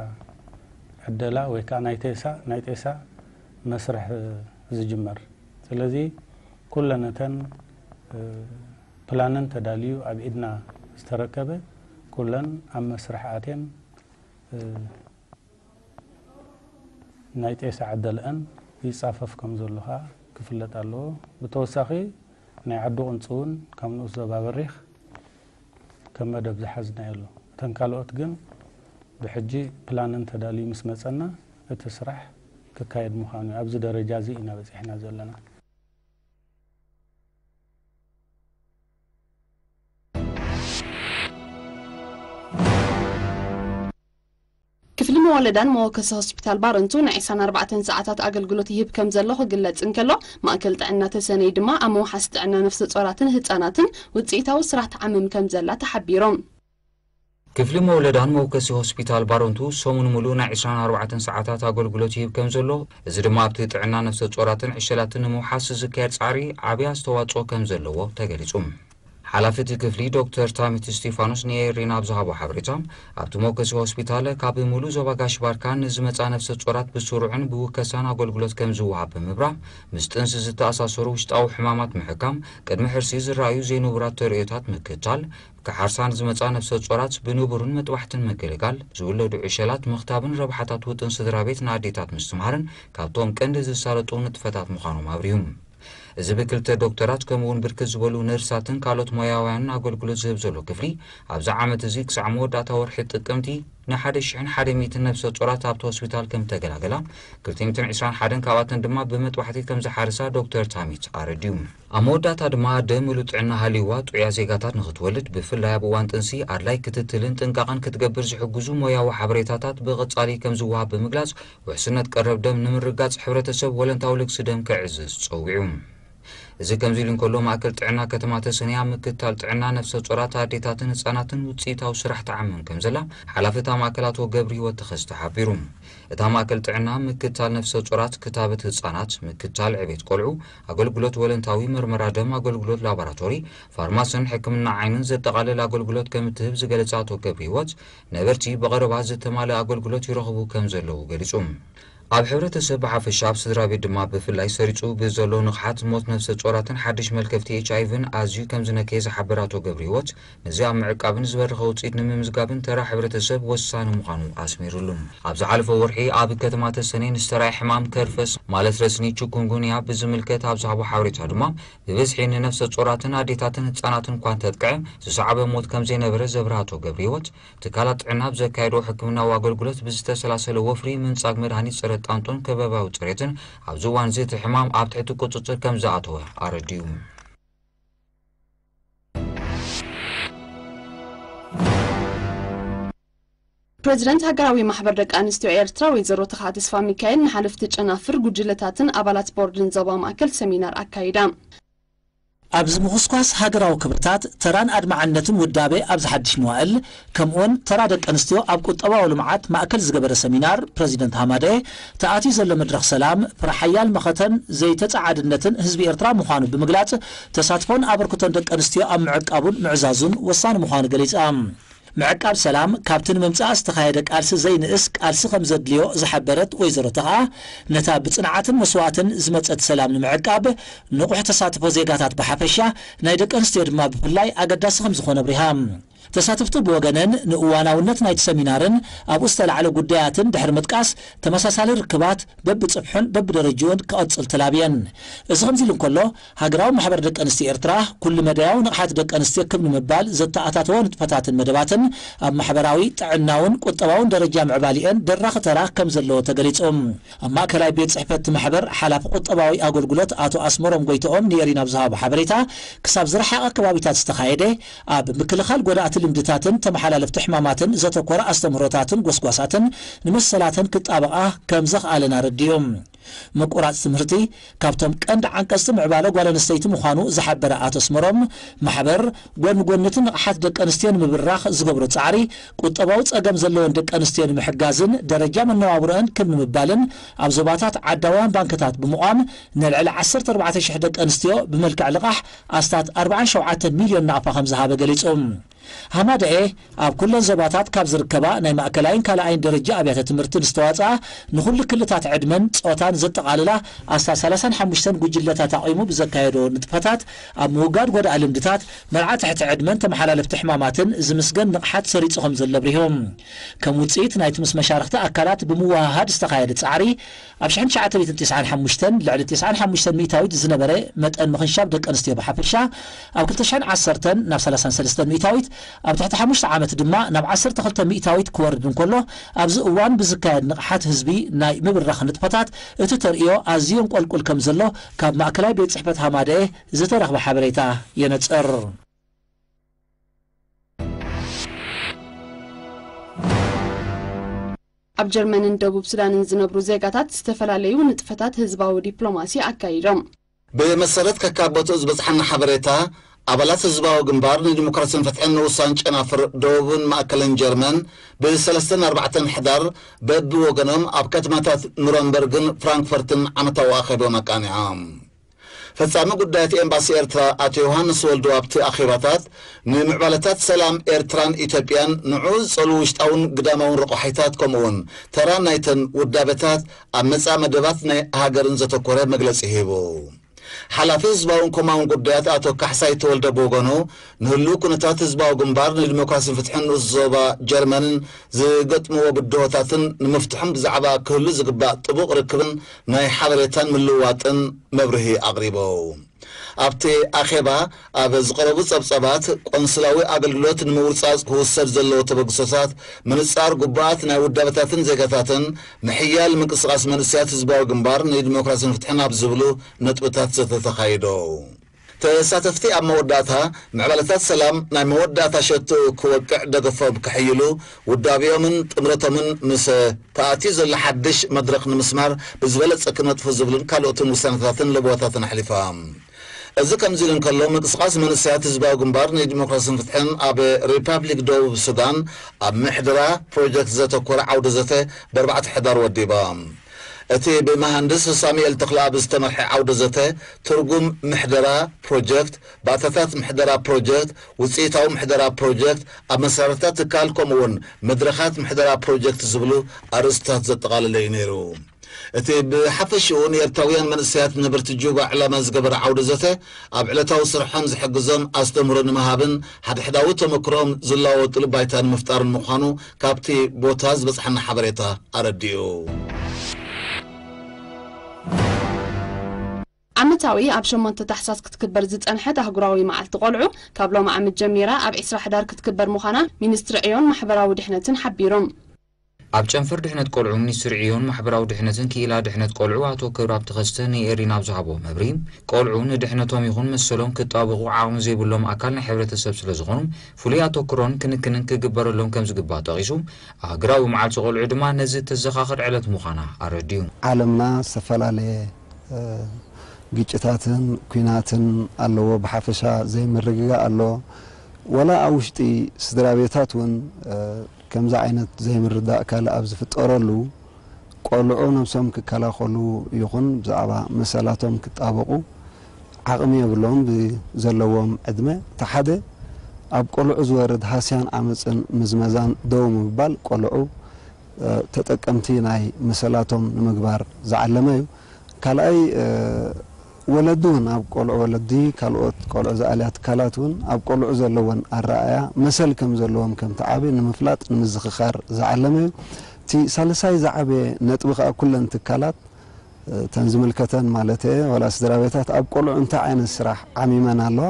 ዕደላ ወይ ከዓ ናይ ጤሳ ናይ ጤሳ መስርሕ ዝጅመር። ስለዚ ኩለን እተን ፕላነን ተዳልዩ ኣብ ኢድና ዝተረከበ ኩለን ኣብ መስርሕ ኣትየን ናይ ጤሳ ዕደለኣን ይጻፈፍ ከም ዘሎ ከኣ ክፍለጥ ኣለዎ። ብተወሳኺ ናይ ዓዲ ቁንጺ እውን ካብ ንኡስ ዞባ በሪኽ ከም መደብ ዝሓዝናዮ ኣሎ። እተን ካልኦት ግን ብሕጂ ፕላነን ተዳልዩ ምስ መጸና እቲ ስራሕ ክካየድ ምዃኑ እዩ። ኣብዚ ደረጃ እዚ ኢና በጺሕና ዘለና። ክፍሊ መወለዳን መወከሲ ሆስፒታል ባረንቱ ንዒስራን ኣርባዕተን ሰዓታት ኣገልግሎት ይህብ ከም ዘሎ ክግለጽ እንከሎ፣ ማእከል ጥዕና ተሰነይ ድማ ኣብ ምውሓስ ጥዕና ነፍሰ ጾራትን ህጻናትን ውጽኢታዊ ስራሕ ትዓምም ከም ዘላ ተሓቢሮም። ክፍሊ መወለዳን መወከሲ ሆስፒታል ባረንቱ ሰሙን ሙሉእ ናይ ዒስራን ኣርባዕተን ሰዓታት ኣገልግሎት ይህብ ከም ዘሎ፣ እዚ ድማ ኣብቲ ጥዕና ነፍሰ ጾራትን ዕሸላትን ንምውሓስ ዝካየድ ጻዕሪ ዓቢ ኣስተዋጽኦ ከም ዘለዎ ተገሊጹ። ሓላፊ እቲ ክፍሊ ዶክተር ታሚት እስቲፋኖስ ንኤሪና ኣብ ዝሃቦ ሓበሬታ፣ ኣብቲ መወከሲ ሆስፒታል ካብ ሙሉእ ዞባ ጋሽ ባርካ ንዝመጻ ነፍሰ ጾራት ብስሩዕን ብውከሳን ኣገልግሎት ከም ዝወሃብ ብምብራህ፣ ምስ ጥንሲ ዝተኣሳሰሩ ውሽጣዊ ሕማማት ምሕካም፣ ቅድሚ ሕርሲ ዝረኣዩ ዘይንቡራት ተርእዮታት ምክታል፣ ክሓርሳ ንዝመጻ ነፍሰ ጾራት ብንቡርን መጥባሕትን ምግልጋል፣ ዝውለዱ ዕሸላት ምኽታብን ረብሓታት ውጥን ስድራ ቤት ንኣዴታት ምስትምሃርን ካብቶም ቀንዲ ዝሳለጡ ንጥፈታት ምዃኖም ኣብሪሁ። እዚ ብክልተ ዶክተራት ከምኡ እውን ብርክት ዝበሉ ነርሳትን ካልኦት ሞያውያንን ኣገልግሎት ዝህብ ዘሎ ክፍሊ፣ ኣብዚ ዓመት እዚ ክሳዕ መወዳእታ ወርሒ ጥቅምቲ ንሓደ ሽሕን ሓደ ሚእትን ነፍሰ ጾራት ኣብቲ ሆስፒታል ከም ተገላገላ፣ ክልተ ሚእትን ዕስራን ሓደን ካብኣተን ድማ ብመጥባሕቲ ከም ዝሓርሳ ዶክተር ታሚት ኣረድዩ። ኣብ መወዳእታ ድማ ኣደ ምሉእ ጥዕና ሃልይዋ ጥዑያ ዜጋታት ንኽትወልድ፣ ብፍላይ ኣብ እዋን ጥንሲ ኣድላይ ክትትልን ጥንቃቐን ክትገብር ዝሕግዙ ሞያዊ ሓበሬታታት ብቐጻሊ ከም ዝወሃብ ብምግላጽ፣ ውሕስነት ቀረብ ደም ንምርጋጽ ሕብረተሰብ ወለንታዊ ልግሲ ደም ከዕዝዝ ጸዊዑ። እዚ ከምዚ ኢሉ እንከሎ፣ ማእከል ጥዕና ከተማ ተሰነያ ምክትታል ጥዕና ነፍሰ ጾራት ኣዴታትን ህጻናትን ውጽኢታዊ ስራሕ ትዓምን ከም ዘላ ሓላፊ እታ ማእከል ኣቶ ገብረ ህይወት ተኸስተ ሓቢሩ። እታ ማእከል ጥዕና ምክትታል ነፍሰ ጾራት፣ ክታበት ህጻናት፣ ምክትታል ዕቤት ቆልዑ፣ ኣገልግሎት ወለንታዊ መርመራ ደም፣ ኣገልግሎት ላቦራቶሪ፣ ፋርማስን ሕክምና ዓይንን ዘጠቓልል ኣገልግሎት ከም እትህብ ዝገለጸ ኣቶ ገብረ ህይወት፣ ነበርቲ ብቐረባ ዝተማልአ ኣገልግሎት ይረኽቡ ከም ዘለዉ ገሊጹ። ኣብ ሕብረተሰብ ብሓፈሻ፣ ኣብ ስድራ ቤት ድማ ብፍላይ ሰሪጹ ብዘሎ ንቕሓት ሞት ነፍሰ ጾራትን ሓድሽ መልከፍቲ ኤች ኣይ ቪን ኣዝዩ ከም ዝነከየ ዝሓበረ ኣቶ ገብረ ህይወት፣ ነዚ ኣብ ምዕቃብን ዝበረኸ ውጽኢት ንምምዝጋብን ተራ ሕብረተሰብ ወሳኒ ምዃኑ ኣስሚሩሉ። ኣብ ዝሓለፈ ወርሒ ኣብ ከተማ ተሰነይ ንዝተራእየ ሕማም ከርፈስ ማለት ረስኒ ቺኩንጉንያ ብዝምልከት ኣብ ዝሃቦ ሓበሬታ ድማ፣ ብብዝሒ ንነፍሰ ጾራትን ኣዴታትን ህጻናትን እኳ እንተጥቅዐ፣ ዝሰዓበ ሞት ከም ዘይነበረ ዘብርሃ ኣቶ ገብረ ህይወት፣ ትካላት ጥዕና ኣብ ዘካየዶ ሕክምናዊ ኣገልግሎት ብዝተሰላሰለ ወፍሪ ምንጻግ መድሃኒት ጸረ ጣንጦን ከባብያዊ ጽሬትን ኣብዚ እዋን እዚ እቲ ሕማም ኣብ ትሕቲ ቁጽጽር ከም ዝኣተወ ኣረድዩ። ፕረዚደንት ሃገራዊ ማሕበር ደቂ ኣንስትዮ ኤርትራ ወይዘሮ ተኽኣ ተስፋ ሚካኤል ንሓለፍቲ ጨናፍር፣ ጉጅለታትን ኣባላት ቦርድን ዞባ ማእከል ሰሚናር ኣካይዳ። ኣብዚ ምኹስኳስ ሃገራዊ ክብርታት፣ ተራን ኣድማዕነትን ውዳቤ ኣብዚ ሓድሽ መዋእል፣ ከምኡውን ተራ ደቂ ኣንስትዮ ኣብ ቁጠባዊ ልምዓት ማእከል ዝገበረ ሰሚናር ፕረዚደንት ሃማደኤ፣ ተኣትዩ ዘሎ መድረኽ ሰላም፣ ፍረ ሓያል መኸተን ዘይተጻዓድነትን ህዝቢ ኤርትራ ምዃኑ ብምግላጽ፣ ተሳትፎን ኣበርክቶን ደቂ ኣንስትዮ ኣብ ምዕቃቡን ምዕዛዙን ወሳኒ ምዃኑ ገሊጻ። ምዕቃብ ሰላም ካብቲ ንምምጻእ ዝተኻየደ ቃልሲ ዘይንእስ ቃልሲ ከም ዘድልዮ ዝሓበረት ወይዘሮ ተኽኣ፣ ነታ ብጽንዓትን መስዋእትን ዝመጸት ሰላም ንምዕቃብ ንቑሕ ተሳትፎ ዜጋታት ብሓፈሻ፣ ናይ ደቂ ኣንስትዮ ድማ ብፍላይ ኣገዳሲ ከም ዝኾነ ኣብሪሃ። ተሳተፍቲ ብወገነን ንእዋናውነት ናይቲ ሰሚናርን ኣብኡ ዝተላዕለ ጉዳያትን ድሕሪ ምጥቃስ፣ ተመሳሳሊ ርክባት በብጽፍሑን በብደረጅኡን ክቐጽል ተላብየን። እዚ ከምዚ ኢሉ እንከሎ፣ ሃገራዊ ማሕበር ደቂ ኣንስትዮ ኤርትራ፣ ኩሉ መዳያዊ ንቕሓት ደቂ ኣንስትዮ ክብ ንምባል ዘተኣታተወ ንጥፈታትን መደባትን፣ ኣብ ማሕበራዊ፣ ጥዕናውን ቁጠባውን ደረጃ ምዕባሊኤን ደራኺ ተራ ከም ዘለዎ ተገሊጹ። ኣብ ማእከላይ ቤት ጽሕፈት እቲ ማሕበር ሓላፊ ቁጠባዊ ኣገልግሎት ኣቶ ኣስመሮም ጎይትኦም ንኤሪና ኣብ ዝሃቦ ሓበሬታ፣ ክሳብ ዝረሓቐ ከባቢታት ዝተኻየደ፣ ኣብ ምክልኻል ጎዳእቲ ልምድታትን ተመሓላለፍቲ ሕማማትን ዘተኮረ ኣስተምህሮታትን ጎስጓሳትን ንመሰላተን ክጣበቓ ከም ዘኽኣለን ኣረዲኡ። ምቁራጽ ትምህርቲ ካብቶም ቀንዲ ዓንቀጽቲ ምዕባለ ጓል ኣንስተይቲ ምዃኑ ዝሓበረ ኣቶ ኣስመሮም፣ ማሕበር ጎኒ ጎኒ እቲ ንቕሓት ደቂ ኣንስትዮ ንምብራኽ ዝገብሮ ጻዕሪ፣ ቁጠባዊ ጸገም ዘለወን ደቂ ኣንስትዮ ንምሕጋዝን ደረጃ መነባብሮአን ክብ ንምባልን ኣብ ዞባታት ዓዳውያን ባንክታት ብምቋም ንልዕሊ ዓሰርተ ኣርባዕተ ሽሕ ደቂ ኣንስትዮ ብመልክዕ ልቓሕ ኣስታት ኣርባዓን ሸውዓተን ሚልዮን ናቕፋ ከም ዝሃበ ገሊጹ። ሃማደኤ ኣብ ኩለን ዞባታት ካብ ዝርከባ ናይ ማእከላይን ካልኣይን ደረጃ ኣብያተ ትምህርቲ ንዝተዋጽኣ ንኹሉ ክልታት ዕድመን ጾታን ዘጠቓልላ ኣስታት ሰላሳን ሓሙሽተን ጉጅለታት ኣቑሙ ብዘካየዶ ንጥፈታት ኣብ ምውጋድ ጎዳኢ ልምድታት፣ መርዓ ትሕቲ ዕድመን ተመሓላለፍቲ ሕማማትን ዝምስገን ንቕሓት ሰሪጹ ከም ዘሎ ኣብሪሆም። ከም ውጽኢት ናይቲ ምስ መሻርኽቲ ኣካላት ብምውህሃድ ዝተኻየደ ጻዕሪ፣ ኣብ ሽሕን ትሽዓተ ሚእትን ተስዓን ሓሙሽተን ልዕሊ ተስዓን ሓሙሽተን ሚእታዊት ዝነበረ መጠን ምኽንሻብ ደቂ ኣንስትዮ ብሓፈሻ፣ ኣብ ክልተ ሽሕን ዓሰርተን ናብ ሰላሳን ሰለስተን ሚእታዊት፣ ኣብ ትሕቲ ሓሙሽተ ዓመት ድማ ናብ ዓሰርተ ክልተ ሚእታዊት ክወርድ እንከሎ፣ ኣብዚ እዋን ብዝካየድ ንቕሓት ህዝቢ ናይ ምብራኽ ንጥፈታት እቲ ተርእዮ ኣዝዩ እንቆልቁል ከም ዘሎ ካብ ማእከላይ ቤት ጽሕፈት ሃማደኤ ዝተረኽበ ሓበሬታ የነጽር። ኣብ ጀርመንን ደቡብ ሱዳንን ዝነብሩ ዜጋታት ዝተፈላለዩ ንጥፈታት ህዝባዊ ዲፕሎማሲ ኣካይዶም። ብመሰረት ከካብ ቦትኡ ዝበጽሓና ሓበሬታ፣ ኣባላት ህዝባዊ ግንባር ንዲሞክራሲን ፍትሕን ንኡሳን ጨናፍር ደቡብን ማእከልን ጀርመን፣ ብሰለስተን ኣርባዕተን ሕዳር በብወገኖም ኣብ ከተማታት ኑረምበርግን ፍራንክፈርትን ዓመታዊ ኣኼባኦም ኣቃኒዖም። ፈጻሚ ጉዳያት ኤምባሲ ኤርትራ ኣቶ ዮሃንስ ወልዱ ኣብቲ ኣኼባታት፣ ንምዕባለታት ሰላም ኤርትራን ኢትዮጵያን ንዕኡ ዝጸልዉ ውሽጣውን ግዳማውን ረቋሒታት፣ ከምኡውን ተራ ናይተን ውዳበታት ኣብ መጻኢ መደባት ናይ ሃገርን ዘተኮረ መግለጺ ሂቡ። ሓላፊ ህዝባውን ኮማውን ጉዳያት ኣቶ ካሕሳይ ተወልደ ብወገኑ፣ ንህሉው ኩነታት ህዝባዊ ግንባር ንዲሞክራሲን ፍትሕን ንኡስ ዞባ ጀርመንን ዝገጥምዎ ብድሆታትን ንምፍትሖም ብዛዕባ ክህሉ ዝግባእ ጥቡቕ ርክብን ናይ ሓበሬታን ምልውዋጥን መብርሂ ኣቕሪቡ። ኣብቲ ኣኼባ ኣብ ዝቐረቡ ጸብጸባት፣ ቆንስላዊ ኣገልግሎት ንምውጻጽ ክውሰድ ዘለዎ ተበግሶታት፣ ምንጻር ግቡኣት ናይ ውዳበታትን ዜጋታትን፣ ምሕያል ምንቅስቓስ መንእሰያት ህዝባዊ ግንባር ንዲሞክራስን ፍትሕን ኣብ ዝብሉ ነጥብታት ዘተ ተኻይዶ። ተሳተፍቲ ኣብ መወዳእታ፣ ምዕባለታት ሰላም ናይ መወዳእታ ሸቶ ክወቅዕ ደገፎም ከሕይሉ፣ ውዳቤኦምን ጥምረቶምን ምስ ተኣትዩ ዘሎ ሓድሽ መድረኽ ንምስማር ብዝበለጸ ክነጥፉ ዝብሉን ካልኦትን ውሳነታትን ለበዋታትን ኣሕሊፋ። እዚ ከምዚ ኢሉ እንከሎ፣ ምንቅስቓስ መንእሰያት ህዝባዊ ግንባር ንዲሞክራስን ፍትሕን ኣብ ሪፓብሊክ ደቡብ ሱዳን ኣብ ምሕደራ ፕሮጀክት ዘተኮረ ዓውደ ዘተ ብኣርባዕተ ሕዳር ወዲባ። እቲ ብመሃንድስ ሳሙኤል ተኽለኣብ ዝተመርሐ ዓውደ ዘተ፣ ትርጉም ምሕደራ ፕሮጀክት፣ ባእታታት ምሕደራ ፕሮጀክት፣ ውፅኢታዊ ምሕደራ ፕሮጀክት፣ ኣመሰራርታ ትካል፣ ከምኡውን መድረኻት ምሕደራ ፕሮጀክት ዝብሉ ኣርእስታት ዘጠቓለለ እዩ ነይሩ። እቲ ብሓፈሽኡ ንኤርትራውያን መንእሰያት ነበርቲ ጁባ ዕላማ ዝገበረ ዓውደ ዘተ፣ ኣብ ዕለታዊ ስርሖም ዝሕግዞም ኣስተምህሮ ንምሃብን ሓድሕዳዊ ተመክሮኦም ዝለዋወጥሉ ባይታ ንምፍጣርን ምዃኑ ካብቲ ቦታ ዝበጽሓና ሓበሬታ ኣረዲኡ። ዓመታዊ ኣብ ሸሞንተ ታሕሳስ ክትክበር ዝጸንሐት ኣህጉራዊ መዓልቲ ቆልዑ፣ ካብ ሎሚ ዓመት ጀሚራ ኣብ ዕስራ ሕዳር ክትክበር ምዃና ሚኒስትሪ ዕዮን ማሕበራዊ ድሕነትን ሓቢሩ። ኣብ ጨንፈር ድሕነት ቆልዑ ሚኒስትሪ ዕዮን ማሕበራዊ ድሕነትን ክኢላ ድሕነት ቆልዑ ኣቶ ክብረኣብ ተኸስተ ንኤሪና ኣብ ዝሃቦ መብርሂ፣ ቆልዑ ንድሕነቶም ይኹን መሰሎም ክጣበቑ ዓቕሚ ዘይብሎም ኣካል ናይ ሕብረተሰብ ስለዝኾኑ፣ ፍሉይ ኣተኩሮን ክንክንን ክግበረሎም ከምዝግባእ ጠቒሱ፣ ኣህጉራዊ መዓልቲ ቆልዑ ድማ ነዚ ተዘኻኽር ዕለት ምዃና ኣረዲኡ። ዓለምና ዝተፈላለየ ግጭታትን ኲናትን ኣለዎ፣ ብሓፈሻ ዘይምርግጋእ ኣሎ። ዋላ ኣብ ውሽጢ ስድራ ቤታት እውን ከምዚ ዓይነት ዘይምርዳእ ካልእ ኣብ ዝፍጠረሉ፣ ቆልዑ ነብሶም ክከላኸሉ ይኹን ብዛዕባ መሰላቶም ክጣበቑ ዓቕሚ የብሎምን። ብዘለዎም ዕድመ፣ እቲ ሓደ ኣብ ቆልዑ ዝወርድ ሃስያን ዓመጽን ምዝመዛን ደው ምባል፣ ቆልዑ ተጠቀምቲ ናይ መሰላቶም ንምግባር ዝዓለመ እዩ። ካልኣይ፣ ወለዲ እውን ኣብ ቆልዑ፣ ወለዲ ካልኦት ቆልዑ ዝኣልያ ትካላት እውን ኣብ ቆልዑ ዘለወን ኣረኣእያ መሰል ከም ዘለዎም ከምቲ ዓቢ ንምፍላጥ ንምዝኽኻር ዝዓለመ እዩ። እቲ ሳልሳይ ዝዓበየ ነጥቢ ከኣ ኩለን ትካላት፣ እተን ዝምልከተን ማለት እየ፣ ዋላ ስድራ ቤታት ኣብ ቆልዑ እንታይ ዓይነት ስራሕ ዓሚመን ኣለዋ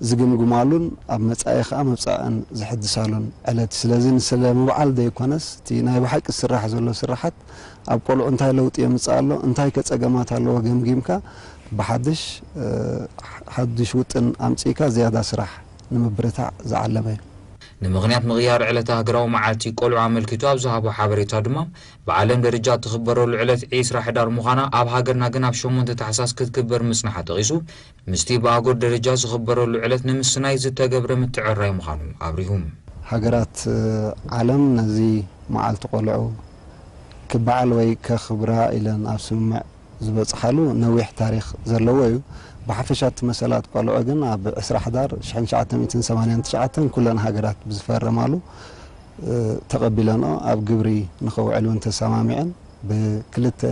ዝግምግማሉን ኣብ መጻኢ ከኣ መብጽዐን ዝሕድሳሉን ዕለት እዩ። ስለዚ ንስለ ምብዓል ዘይኮነስ እቲ ናይ ብሓቂ ዝስራሕ ዘሎ ስራሓት ኣብ ቆልዑ እንታይ ለውጢ የምጽእ ኣሎ፣ እንታይ ከ ጸገማት ኣለዎ ገምጊምካ ብሓድሽ ሓድሽ ውጥን ኣምጺእካ ዝያዳ ስራሕ ንምብርታዕ ዝዓለመ እዩ። ንምኽንያት ምቕያር ዕለተ ሃገራዊ መዓልቲ ቆልዑ ኣመልኪቱ ኣብ ዝሃቦ ሓበሬታ ድማ፣ ብዓለም ደረጃ እትኽበረሉ ዕለት ዒስራ ሕዳር ምዃና፣ ኣብ ሃገርና ግን ኣብ ሸሞንተ ታሕሳስ ክትክበር ምጽንሓ ጠቒሱ፣ ምስቲ ብኣህጉር ደረጃ ዝኽበረሉ ዕለት ንምስናይ ዝተገብረ ምትዕርራይ ምዃኑ ኣብሪሁ። ሃገራት ዓለም ነዚ መዓልቲ ቆልዑ ክበዓል ወይ ከኽብራ ኢለን ኣብ ስምምዕ ዝበጽሓሉ ነዊሕ ታሪኽ ዘለዎ እዩ። ብሓፈሻ እቲ መሰላት ቆልዑ ግን ኣብ ዕስራ ሕዳር ሽሕን ትሽዓተ ሚእትን ሰማንያን ትሽዓተን ኩለን ሃገራት ብዝፈረማሉ ተቐቢለንኦ ኣብ ግብሪ ንኸውዕል እውን ተሰማሚዐን። ብክልተ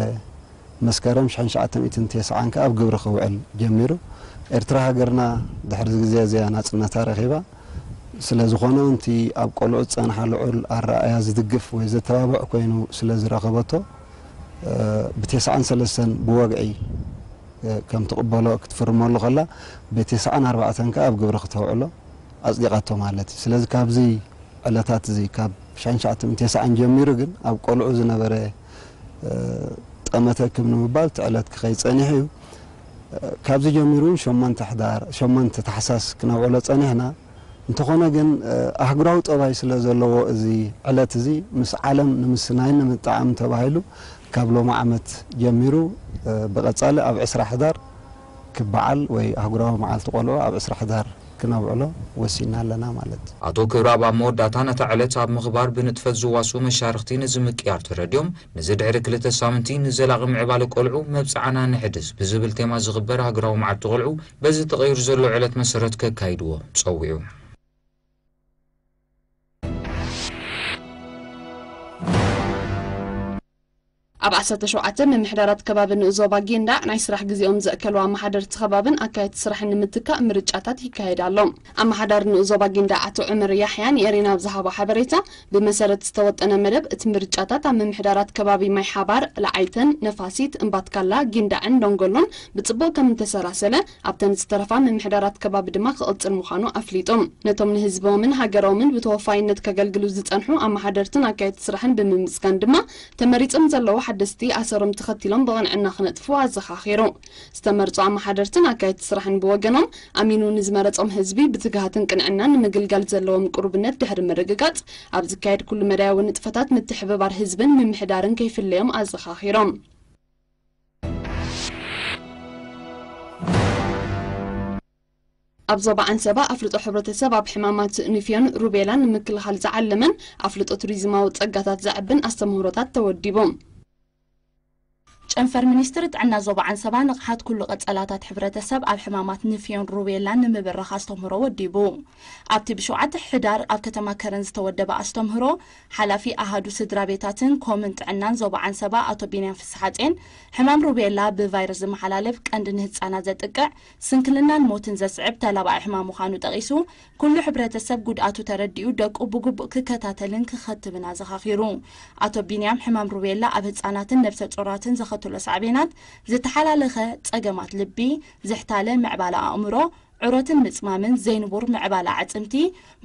መስከረም ሽሕን ትሽዓተ ሚእትን ተስዓን ከኣ ኣብ ግብሪ ክውዕል ጀሚሩ። ኤርትራ ሃገርና ድሕሪ ግዜ እዚኣ ናጽነታ ረኺባ። ስለ ዝኾነ እውን እቲ ኣብ ቆልዑ ዝጸንሓ ልዑል ኣረኣእያ ዝድግፍ ወይ ዘተባብዕ ኮይኑ ስለ ዝረኸበቶ፣ ብተስዓን ሰለስተን ብወግዒ ከም ትቕበሎ ክትፍርመሉ ከላ፣ ብተስዓን ኣርባዕተን ከኣ ኣብ ግብሪ ክተውዕሎ ኣጽዲቓቶ ማለት እዩ። ስለዚ ካብዚ ዕለታት እዚ ካብ ሽሕን ትሽዓተ ሚእትን ተስዓን ጀሚሩ ግን ኣብ ቆልዑ ዝነበረ ጠመተ ክብ ንምባል እቲ ዕለት ክኸይድ ጸኒሑ እዩ። ካብዚ ጀሚሩ እውን ሸሞንተ ሕዳር፣ ሸሞንተ ታሕሳስ ክነውዕሎ ጸኒሕና። እንተኾነ ግን ኣህጉራዊ ጠባይ ስለ ዘለዎ እዚ ዕለት እዚ ምስ ዓለም ንምስናይን ንምጥዓምን ተባሂሉ ካብ ሎሚ ዓመት ጀሚሩ ብቐጻሊ ኣብ ዕስራ ሕዳር ክበዓል ወይ ኣህጉራዊ መዓልቲ ቆልዑ ኣብ ዕስራ ሕዳር ክነብዕሎ ወሲና ኣለና ማለት እዩ። ኣቶ ክብረኣብ ኣብ መወዳእታ ነታ ዕለት ኣብ ምኽባር ብንጥፈት ዝዋስኡ መሻርኽቲ ነዚ ምቅያር ተረዲኦም፣ ነዚ ድሕሪ ክልተ ሳምንቲ ንዘላቒ ምዕባለ ቆልዑ መብጽዓና ነሕድስ ብዝብል ቴማ ዝኽበር ሃገራዊ መዓልቲ ቆልዑ በዚ ተቐይሩ ዘሎ ዕለት መሰረት ከካይድዎ ጸዊዑ። ኣብ ዓሰርተ ሸውዓተ ምምሕዳራት ከባቢ ንኡስ ዞባ ጊንዳዕ ናይ ስራሕ ግዜኦም ዘእከሉ ኣመሓደርቲ ከባብን ኣካየድቲ ስራሕን ንምትካእ ምርጫታት ይካየድ ኣሎ። ኣመሓዳሪ ንኡስ ዞባ ጊንዳዕ ኣቶ ዑመር ያሕያ ንኤሬና ኣብ ዝሃቦ ሓበሬታ፣ ብመሰረት ዝተወጠነ መደብ እቲ ምርጫታት ኣብ ምምሕዳራት ከባቢ ማይ ሓባር፣ ለዓይተን፣ ነፋሲት፣ እምባትካላ፣ ጊንዳዕን ዶንጎሎን ብጽቡቕ ከም እተሰላሰለ፣ ኣብተን ዝተረፋ ምምሕዳራት ከባቢ ድማ ክቕጽል ምዃኑ ኣፍሊጡ። ነቶም ንህዝቦምን ሃገሮምን ብተወፋይነት ከገልግሉ ዝጸንሑ ኣመሓደርትን ኣካየድቲ ስራሕን ብምምስጋን ድማ፣ ተመሪጾም ዘለዉ ሓደስቲ ኣሰሮም ተኸቲሎም ብቕንዕና ክነጥፉ ኣዘኻኺሩ። ዝተመርጹ ኣመሓደርትን ኣካየድቲ ስራሕን ብወገኖም፣ ኣሚኑ ንዝመረጾም ህዝቢ ብትግሃትን ቅንዕናን ንምግልጋል ዘለዎም ቅሩብነት ድሕሪ ምርግጋጽ፣ ኣብ ዝካየድ ኩሉ መዳያዊ ንጥፈታት ምትሕብባር ህዝብን ምምሕዳርን ከይፍለዮም ኣዘኻኺሮም። ኣብ ዞባ ዓንሰባ ኣፍልጦ ሕብረተሰብ ኣብ ሕማማት ንፍዮን ሩቤላን ንምክልኻል ዝዓለመን ኣፍልጦ ቱሪዝማዊ ጸጋታት ዘዕብን ኣስተምህሮታት ተወዲቡ። ጨንፈር ሚኒስትሪ ጥዕና ዞባ ዓንሰባ ንቕሓት ኩሉ ቀጸላታት ሕብረተሰብ ኣብ ሕማማት ንፍዮን ሩቤላን ንምብራኽ ኣስተምህሮ ወዲቡ። ኣብቲ ብሸውዓተ ሕዳር ኣብ ከተማ ከረን ዝተወደበ ኣስተምህሮ፣ ሓላፊ ኣሃዱ ስድራ ቤታትን ኮምን ጥዕናን ዞባ ዓንሰባ ኣቶ ቢንያም ፍስሓጼን፣ ሕማም ሩቤላ ብቫይረስ ዝመሓላለፍ ቀንዲ ንህጻናት ዘጥቅዕ ስንክልናን ሞትን ዘስዕብ ተላባዒ ሕማም ምዃኑ ጠቒሱ፣ ኩሉ ሕብረተሰብ ጉድኣቱ ተረዲኡ ደቁ ብግቡእ ክከታተልን ክኸትብን ኣዘኻኺሩ። ኣቶ ቢንያም፣ ሕማም ሩቤላ ኣብ ህጻናትን ነብሰ ጾራትን ዘኸትሎ ሳዕቤናት፣ ዝተሓላለኸ ጸገማት ልቢ፣ ዝሕታለ ምዕባለ ኣእምሮ፣ ዑረትን ምጽማምን፣ ዘይንቡር ምዕባለ ኣዕጽምቲ፣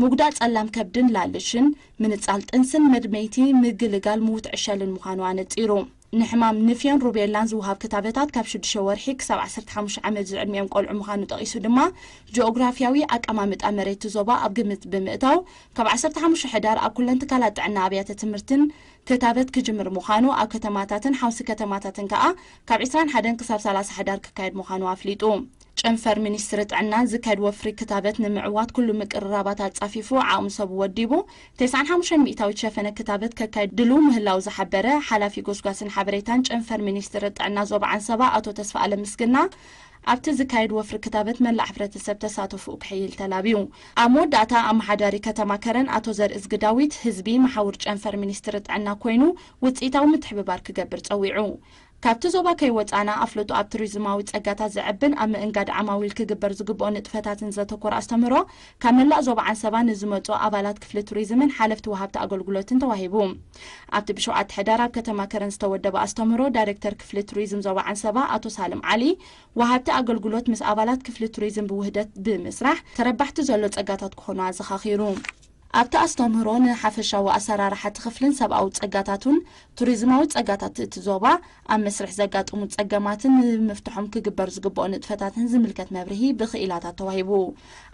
ምጉዳእ ጸላም ከብድን ላልሽን፣ ምንጻል ጥንስን መድመይቲ ምግልጋል ምውት ዕሸልን ምዃኑ ኣነጺሩ። ንሕማም ንፍዮን ሩቤላን ዝወሃብ ክታበታት ካብ ሽዱሽተ ወርሒ ክሳብ ዓሰርተ ሓሙሽተ ዓመት ዝዕድሚኦም ቆልዑ ምዃኑ ጠቒሱ ድማ፣ ጂኦግራፊያዊ ኣቀማምጣ መሬት እቲ ዞባ ኣብ ግምት ብምእታው፣ ካብ ዓሰርተ ሓሙሽተ ሕዳር ኣብ ኩለን ትካላት ጥዕና ኣብያተ ትምህርትን ክታበት ክጅምር ምዃኑ፣ ኣብ ከተማታትን ሓውሲ ከተማታትን ከኣ ካብ ዕስራን ሓደን ክሳብ ሰላሳ ሕዳር ክካየድ ምዃኑ ኣፍሊጡ። ጨንፈር ሚኒስትሪ ጥዕና ዝካየድ ወፍሪ ክታበት ንምዕዋት ኩሉ ምቅርራባት ኣጻፊፉ ዓቕሚ ሰቡ ወዲቡ፣ ተስዓን ሓሙሽተን ሚእታዊት ሸፈነ ክታበት ከካይድ ድሉው ምህላው ዝሓበረ ሓላፊ ጎስጓስን ሓበሬታን ጨንፈር ሚኒስትሪ ጥዕና ዞባ ዓንሰባ ኣቶ ተስፋኣለም ምስግና፣ ኣብቲ ዝካየድ ወፍሪ ክታበት መላእ ሕብረተሰብ ተሳተፎኡ ክሕይል ተላብዩ። ኣብ መወዳእታ ኣመሓዳሪ ከተማ ከረን ኣቶ ዘርእዝጊ ዳዊት ህዝቢ መሓውር ጨንፈር ሚኒስትሪ ጥዕና ኮይኑ ውጽኢታዊ ምትሕብባር ክገብር ጸዊዑ። ካብቲ ዞባ ከይወጻና ኣፍልጦ ኣብ ቱሪዝማዊ ጸጋታት ዘዕብን ኣብ ምእንጋድ ዓማዊል ክግበር ዝግብኦ ንጥፈታትን ዘተኮረ ኣስተምህሮ ካብ መላእ ዞባ ዓንሰባ ንዝመጹ ኣባላት ክፍሊ ቱሪዝምን ሓለፍቲ ወሃብቲ ኣገልግሎትን ተዋሂቡ። ኣብቲ ብሸውዓተ ሕዳር ኣብ ከተማ ከረን ዝተወደበ ኣስተምህሮ ዳይሬክተር ክፍሊ ቱሪዝም ዞባ ዓንሰባ ኣቶ ሳልም ዓሊ፣ ወሃብቲ ኣገልግሎት ምስ ኣባላት ክፍሊ ቱሪዝም ብውህደት ብምስራሕ ተረባሕቲ ዘሎ ጸጋታት ክኾኑ ኣዘኻኺሩ። ኣብቲ ኣስተምህሮ ንሓፈሻዊ ኣሰራርሓ እቲ ክፍልን ሰብኣዊ ጸጋታቱን ቱሪዝማዊ ጸጋታት እቲ ዞባ ኣብ መስርሕ ዘጋጥሙ ጸገማትን ንምፍትሖም ክግበር ዝግብኦ ንጥፈታትን ዝምልከት መብርሂ ብክኢላታት ተዋሂቡ።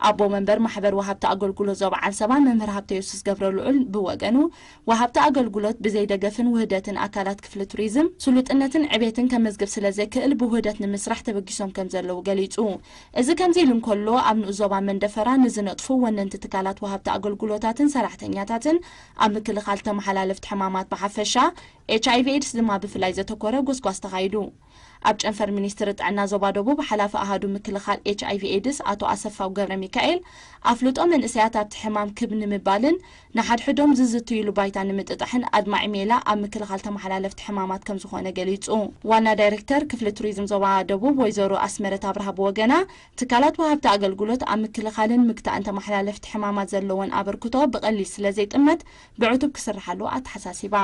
ኣቦ መንበር ማሕበር ወሃብቲ ኣገልግሎት ዞባ ዓንሰባ መምህር ሃብተ የሱስ ገብረ ልዑል ብወገኑ፣ ወሃብቲ ኣገልግሎት ብዘይ ደገፍን ውህደትን ኣካላት ክፍሊ ቱሪዝም ስሉጥነትን ዕቤትን ከመዝግብ ስለ ዘይክእል ብውህደት ንምስራሕ ተበጊሶም ከም ዘለዉ ገሊጹ። እዚ ከምዚ ኢሉ እንከሎ፣ ኣብ ንኡስ ዞባ መንደፈራ ንዝነጥፉ ወነንቲ ትካላት ወሃብቲ ኣገልግሎታትን ሰራሕተኛታትን ኣብ ምክልኻል ተመሓላለፍቲ ሕማማት ብሓፈሻ፣ ኤች ኣይ ቪ ኤድስ ድማ ብፍላይ ዘተኮረ ጎስጓስ ተኻይዱ። ኣብ ጨንፈር ሚኒስትሪ ጥዕና ዞባ ደቡብ ሓላፊ ኣሃዱ ምክልኻል ኤች ኣይ ቪ ኤድስ ኣቶ ኣሰፋው ገብረ ሚካኤል፣ ኣፍልጦ መንእሰያት ኣብቲ ሕማም ክብ ንምባልን ንሓድሕዶም ዝዝትይሉ ባይታ ንምጥጣሕን ኣድማዒ ሜላ ኣብ ምክልኻል ተመሓላለፍቲ ሕማማት ከም ዝኾነ ገሊጹ። ዋና ዳይሬክተር ክፍሊ ቱሪዝም ዞባ ደቡብ ወይዘሮ ኣስመረት ኣብርሃ ብወገና፣ ትካላት ወሃብቲ ኣገልግሎት ኣብ ምክልኻልን ምግታእን ተመሓላለፍቲ ሕማማት ዘለወን ኣበርክቶ ብቐሊል ስለ ዘይጥመት ብዕቱብ ክስርሓሉ ኣተሓሳሲባ።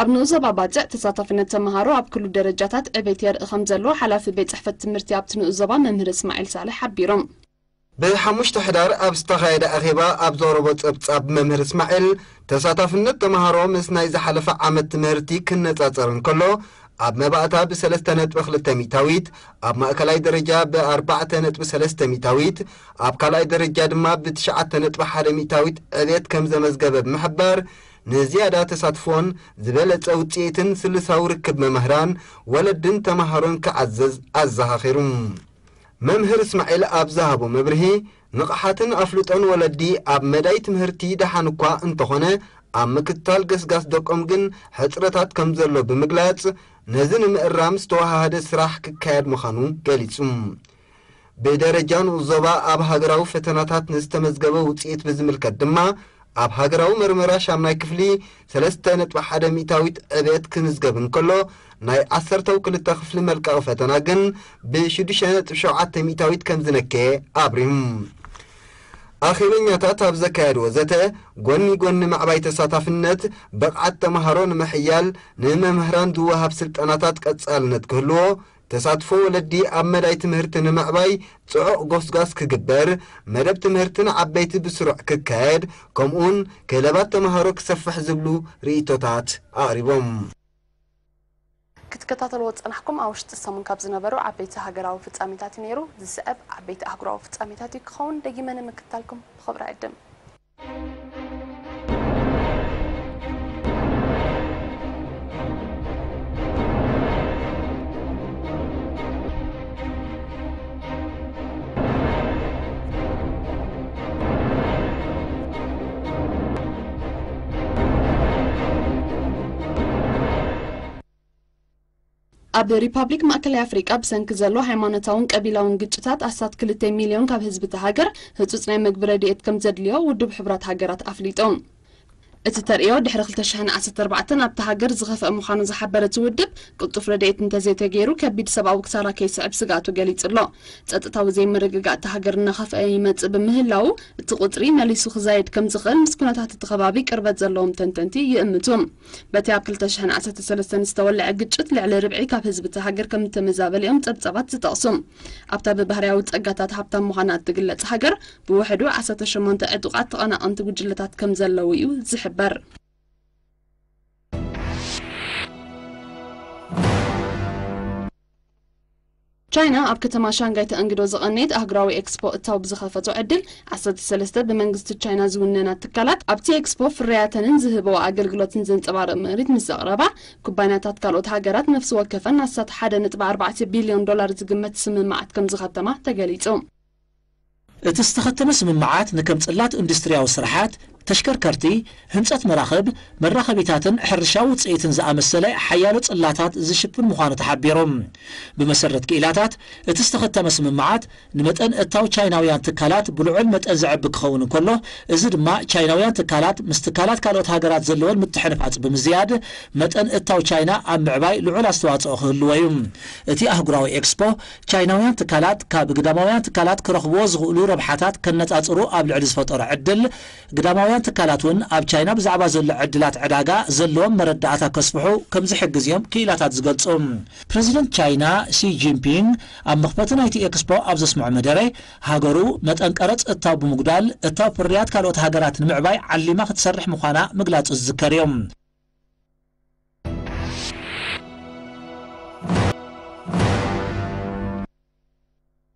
ኣብ ንኡስ ዞባ ባጽዕ ተሳታፍነት ተመሃሮ ኣብ ኩሉ ደረጃታት ዕቤት የርኢ ከም ዘሎ ሓላፊ ቤት ጽሕፈት ትምህርቲ ኣብቲ ንኡስ ዞባ መምህር እስማዒል ሳልሕ ሓቢሮም። ብሓሙሽተ ሕዳር ኣብ ዝተኻየደ ኣኼባ ኣብ ዘቕረቦ ጸብጻብ መምህር እስማዒል፣ ተሳታፍነት ተመሃሮ ምስ ናይ ዝሓለፈ ዓመት ትምህርቲ ክነጻጸር እንከሎ፣ ኣብ መባእታ ብሰለስተ ነጥቢ ክልተ ሚእታዊት፣ ኣብ ማእከላይ ደረጃ ብኣርባዕተ ነጥቢ ሰለስተ ሚእታዊት፣ ኣብ ካልኣይ ደረጃ ድማ ብትሽዓተ ነጥቢ ሓደ ሚእታዊት ዕቤት ከም ዘመዝገበ ብምሕባር፣ ንዝያዳ ተሳትፎን ዝበለጸ ውጽኢትን ስልሳዊ ርክብ መምህራን፣ ወለድን ተመሃሮን ክዓዘዝ ኣዘኻኺሩ። መምህር እስማዒል ኣብ ዝሃቦ መብርሂ፣ ንቕሓትን ኣፍልጦን ወለዲ ኣብ መዳይ ትምህርቲ ደሓን እኳ እንተኾነ፣ ኣብ ምክትታል ገስጋስ ደቆም ግን ሕጽረታት ከም ዘሎ ብምግላጽ፣ ነዚ ንምእራም ዝተወሃሃደ ስራሕ ክካየድ ምዃኑ ገሊጹ። ብደረጃ ንኡስ ዞባ ኣብ ሃገራዊ ፈተናታት ንዝተመዝገበ ውጽኢት ብዝምልከት ድማ፣ ኣብ ሃገራዊ መርመራ ሻምናይ ክፍሊ ሰለስተ ነጥቢ ሓደ ሚእታዊት ዕብየት ክምዝገብ እንከሎ፣ ናይ ዓሰርተው ክልተ ክፍሊ መልቀቒ ፈተና ግን ብሽዱሽተ ነጥቢ ሸውዓተ ሚእታዊት ከም ዝነከየ ኣብሪሁ። ኣኼበኛታት ኣብ ዘካየድዎ ዘተ፣ ጎኒ ጎኒ ምዕባይ ተሳታፍነት፣ ብቕዓት ተምሃሮ ንምሕያል፣ ንመምህራን ዝወሃብ ስልጠናታት ቀጻልነት ክህልዎ፣ ተሳትፎ ወለዲ ኣብ መዳይ ትምህርቲ ንምዕባይ ጽዑቕ ጎስጓስ ክግበር፣ መደብ ትምህርቲ ንዓበይቲ ብስሩዕ ክካየድ፣ ከምኡውን ክለባት ተምሃሮ ክሰፍሕ ዝብሉ ርእይቶታት ኣቕሪቦም። ክትከታተልዎ ዝጸናሕኩም ኣብ ውሽጢ ሰሙን ካብ ዝነበሩ ዓበይቲ ሃገራዊ ፍጻሜታት እዩ ነይሩ። ዝስዕብ ዓበይቲ ኣህጉራዊ ፍጻሜታት እዩ ክኸውን። ደጊመ ንምክትታልኩም ብኽብሪ ዕድም። ኣብ ሪፓብሊክ ማእከላይ ኣፍሪቃ ብሰንኪ ዘሎ ሃይማኖታውን ቀቢላውን ግጭታት ኣስታት ክልተ ሚልዮን ካብ ህዝቢ እታ ሃገር ህጹጽ ናይ መግቢ ረድኤት ከም ዘድልዮ ውድብ ሕቡራት ሃገራት ኣፍሊጡ። እቲ ተርእዮ ድሕሪ ክልተ ሽሕን ዓሰርተ ኣርባዕተን ኣብታ ሃገር ዝኸፍአ ምዃኑ ዝሓበረ እቲ ውድብ፣ ቅልጡፍ ረድኤት እንተዘይተገይሩ ከቢድ ሰብኣዊ ክሳራ ከይስዕብ ስግኣቱ ገሊጹ ኣሎ። ጸጥታዊ ዘይምርግጋእ እታ ሃገር እናኸፍአ ይመጽእ ብምህላዉ፣ እቲ ቁጽሪ መሊሱ ክዛየድ ከም ዝኽእል ምስ ኩነታት እቲ ከባቢ ቅርበት ዘለዎም ተንተንቲ ይእምቱ። በቲ ኣብ ክልተ ሽሕን ዓሰርተ ሰለስተን ዝተወልዐ ግጭት ልዕሊ ርብዒ ካብ ህዝቢ እታ ሃገር ከም እተመዛበለ እዮም ጸብጻባት ዝጠቕሱ። ኣብታ ብባህርያዊ ጸጋታት ሃብታም ምዃና እትግለጽ ሃገር፣ ብውሕዱ ዓሰርተ ሸሞንተ ዕጡቓት ተቐናቐንቲ ጉጅለታት ከም ዘለዉ እዩ ዝሕበር። ቻይና ኣብ ከተማ ሻንጋይ ተኣንግዶ ዝቐነየት ኣህጉራዊ ኤክስፖ እታው ብዝኸፈቶ ዕድል፣ ዓሰርተ ሰለስተ ብመንግስቲ ቻይና ዝውነና ትካላት ኣብቲ ኤክስፖ ፍርያተንን ዝህበኦ ኣገልግሎትን ዘንጸባርቕ ምርኢት ምስ ዘቕረባ፣ ኩባንያታት ካልኦት ሃገራት ነፍሲ ወከፈን ኣስታት ሓደ ነጥቢ ኣርባዕተ ቢልዮን ዶላር ዝግመት ስምምዓት ከም ዝኸተማ ተገሊጹ። እቲ ዝተኸተመ ስምምዓት ንከም ጽላት ኢንዱስትርያዊ ስራሓት፣ ተሽከርከርቲ፣ ህንጸት መራኽብ፣ መራኸቢታትን ሕርሻዊ ውጽኢትን ዝኣመሰለ ሓያሎ ጽላታት ዝሽፍን ምዃኑ ተሓቢሩ። ብመሰረት ክኢላታት፣ እቲ ዝተኸተመ ስምምዓት ንመጠን እታው ቻይናውያን ትካላት ብልዑል መጠን ዘዕቢ ክኸውን እንከሎ፣ እዚ ድማ ቻይናውያን ትካላት ምስ ትካላት ካልኦት ሃገራት ዘለወን ምትሕንፋጽ ብምዝያድ፣ መጠን እታው ቻይና ኣብ ምዕባይ ልዑል ኣስተዋጽኦ ክህልዎ እዩ። እቲ ኣህጉራዊ ኤክስፖ፣ ቻይናውያን ትካላት ካብ ግዳማውያን ትካላት ክረኽብዎ ዝኽእሉ ረብሓታት ከነጻጽሩ ኣብ ልዕሊ ዝፈጠሮ ዕድል፣ ግዳማውያን ትካላት እውን ኣብ ቻይና ብዛዕባ ዘሎ ዕድላት ዕዳጋ ዘለዎም መረዳእታ ከስፍሑ ከም ዝሕግዝ እዮም ክኢላታት ዝገልጹ። ፕረዚደንት ቻይና ሲ ጂንፒንግ ኣብ መኽፈቲ ናይቲ ኤክስፖ ኣብ ዘስምዖ መደረ፣ ሃገሩ መጠን ቀረጽ እታው ብምጉዳል እታው ፍርያት ካልኦት ሃገራት ንምዕባይ ዓሊማ ክትሰርሕ ምዃና ምግላጹ ዝዝከር እዩ።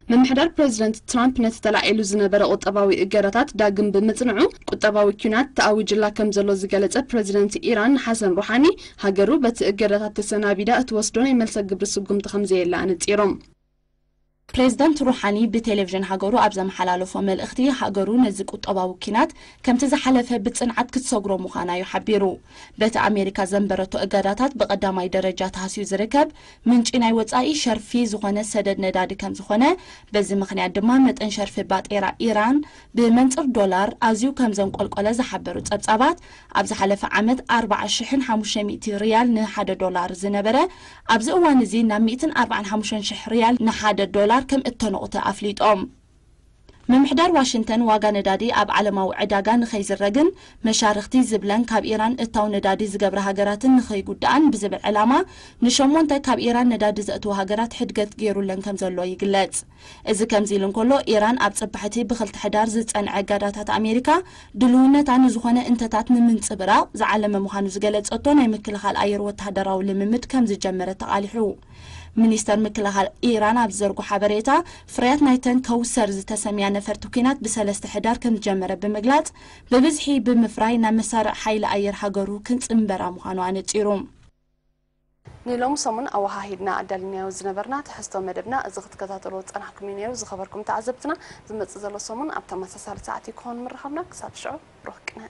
ምምሕዳር ፕረዚደንት ትራምፕ ነቲ ተላዒሉ ዝነበረ ቁጠባዊ እገዳታት ዳግም ብምጽንዑ፣ ቁጠባዊ ኲናት ተኣዊጅላ ከም ዘሎ ዝገለጸ ፕረዚደንት ኢራን ሓሰን ሩሓኒ፣ ሃገሩ በቲ እገዳታት ተሰናቢዳ እትወስዶ ናይ መልሰ ግብሪ ስጉምቲ ከም ዘየለ ኣነጺሮም። ፕሬዝዳንት ሩሓኒ ብቴሌቪዥን ሃገሩ ኣብ ዘመሓላለፎ መልእኽቲ፣ ሃገሩ ነዚ ቁጠባዊ ኲናት ከምቲ ዝሓለፈ ብጽንዓት ክትሰግሮ ምዃና እዩ ሓቢሩ። በቲ ኣሜሪካ ዘንበረቶ እገዳታት ብቐዳማይ ደረጃ ተሃስዩ ዝርከብ ምንጪ ናይ ወጻኢ ሸርፊ ዝኾነ ሰደድ ነዳዲ ከም ዝኾነ፣ በዚ ምኽንያት ድማ መጠን ሸርፊ ባጤራ ኢራን ብመንጽር ዶላር ኣዝዩ ከም ዘንቆልቆለ ዝሓበሩ ጸብጻባት፣ ኣብ ዝሓለፈ ዓመት ኣርብዓ ሽሕን ሓሙሽተ ሚእቲ ሪያል ንሓደ ዶላር ዝነበረ፣ ኣብዚ እዋን እዚ ናብ ሚእትን ኣርባዓን ሓሙሽተን ሽሕ ሪያል ንሓደ ዶላር ከም እተነቑተ ኣፍሊጦም። ምምሕዳር ዋሽንግተን ዋጋ ነዳዲ ኣብ ዓለማዊ ዕዳጋ ንኸይዝረግን መሻርኽቲ ዝብለን ካብ ኢራን እታው ነዳዲ ዝገብራ ሃገራትን ንኸይጉድኣን ብዝብል ዕላማ ንሸሞንተ ካብ ኢራን ነዳዲ ዘእትዋ ሃገራት ሕድገት ገይሩለን ከም ዘሎ ይግለጽ። እዚ ከምዚ ኢሉ እንከሎ፣ ኢራን ኣብ ጽባሕቲ ብኽልተ ሕዳር ዝጸንዐ እገዳታት ኣሜሪካ ድልውነታ ንዝኾነ እንተታት ንምንጽብራቕ ዝዓለመ ምዃኑ ዝገለጸቶ ናይ ምክልኻል ኣየር ወተሃደራዊ ልምምድ ከም ዝጀመረ ተቓሊሑ። ሚኒስተር ምክልኻል ኢራን ኣብ ዝዘርጎ ሓበሬታ፣ ፍርያት ናይተን ከውሰር ዝተሰምያ ነፈርቲ ኲናት ብሰለስተ ሕዳር ከም ዝጀመረ ብምግላጽ፣ ብብዝሒ ብምፍራይ ናብ መሳርዕ ሓይሊ ኣየር ሃገሩ ክንጽንበራ ምዃኑ ኣነጺሩ። ንሎሚ ሰሙን ኣወሃሂድና ኣዳሊናዮ ዝነበርና ትሕዝቶ መደብና እዚ ክትከታተልዎ ዝጸናሕኩም እዩ ነይሩ። ዝኸበርኩም ተዓዘብትና፣ ዝመጽእ ዘሎ ሰሙን ኣብ ተመሳሳሊ ሰዓት እዩ ክኸውን ምርኻብና። ክሳብ ሽዑ ብሩኽ ቅነ።